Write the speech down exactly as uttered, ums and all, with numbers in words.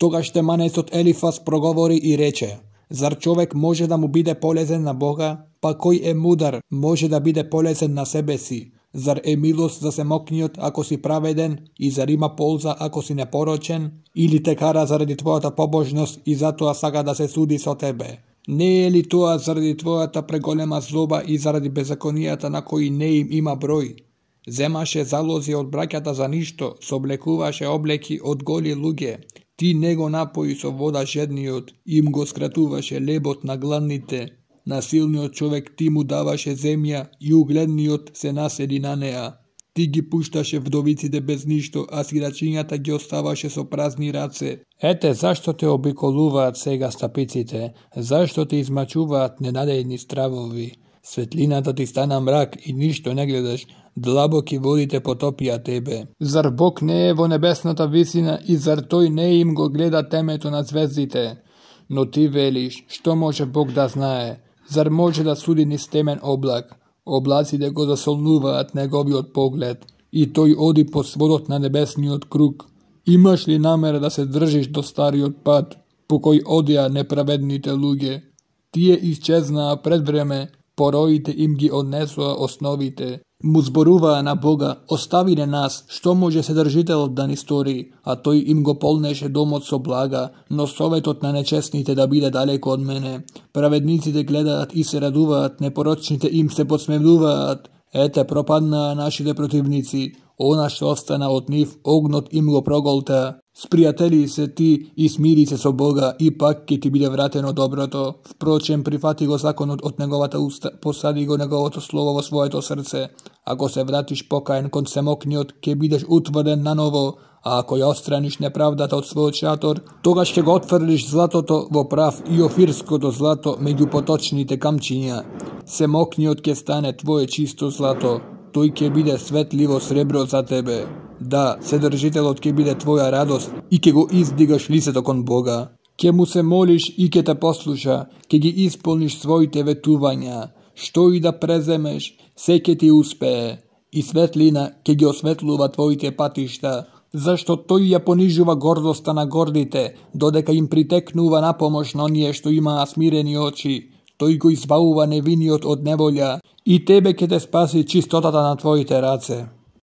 Тогаш теманецот Елифаз проговори и рече: зар човек може да му биде полезен на Бога? Па кој е мудар може да биде полезен на себе си? Зар е милост за семокниот ако си праведен и зар има полза ако си непорочен? Или те кара заради твојата побожност и затоа сака да се суди со тебе? Не е ли тоа заради твојата преголема злоба и заради беззаконијата на кои не им има број? Земаше залози од браќата за ништо, соблекуваше облеки од голи луѓе. Ти не го напои со вода жедниот, им го скратуваше лебот на гладните. На силниот човек ти му даваше земја и угледниот се наседи на неа. Ти ги пушташе вдовиците без ништо, а сирачињата ги оставаше со празни раце. Ете зашто те обиколуваат сега стапиците, зашто те измачуваат ненадејни стравови. Светлината ти стана мрак и ништо не гледаш, длабоки водите потопија тебе. Зар Бог не е во небесната висина и зар тој не им го гледа темето на звездите? Но ти велиш, што може Бог да знае? Зар може да суди низ темен облак? Облаците го засолнуваат неговиот поглед и тој оди по сводот на небесниот круг. Имаш ли намера да се држиш до стариот пат, по кој одеа неправедните луѓе? Тие исчезнаа пред време, пороите им ги однесоа основите. Му зборуваа на Бога: остави не нас, што може Седржителот да ни стори, а тој им го полнеше домот со блага, но советот на нечестните да биде далеко од мене. Праведниците гледаат и се радуваат, непорочните им се подсмевнуваат. Ете, пропаднаа нашите противници, она што остана од нив, огнот им го проголта. Спријатели се ти и смири се со Бога, и пак ќе ти биде вратено доброто. Впрочем, прифати го законот од неговата уста, посади го неговото слово во своето срце. Ако се вратиш покаен кон семокниот, ќе бидеш утврден наново, а ако ја отстраниш неправдата од својот шатор, тогаш ќе го отфрлиш златото во прав и офирското злато меѓу поточните камчиња. Семокниот ќе стане твое чисто злато, тој ќе биде светливо сребро за тебе. Да, Седржителот ќе биде твоја радост и ќе го издигаш лицето кон Бога. Ќе му се молиш и ќе те послуша, ќе ги исполниш своите ветувања. Што и да преземеш, се ќе ти успее. И светлина ќе ги осветлува твоите патишта, зашто тој ја понижува гордоста на гордите, додека им притекнува на помош на оние што имаа смирени очи. Тој го избавува невиниот од неволја и тебе ќе те спаси чистотата на твоите раце.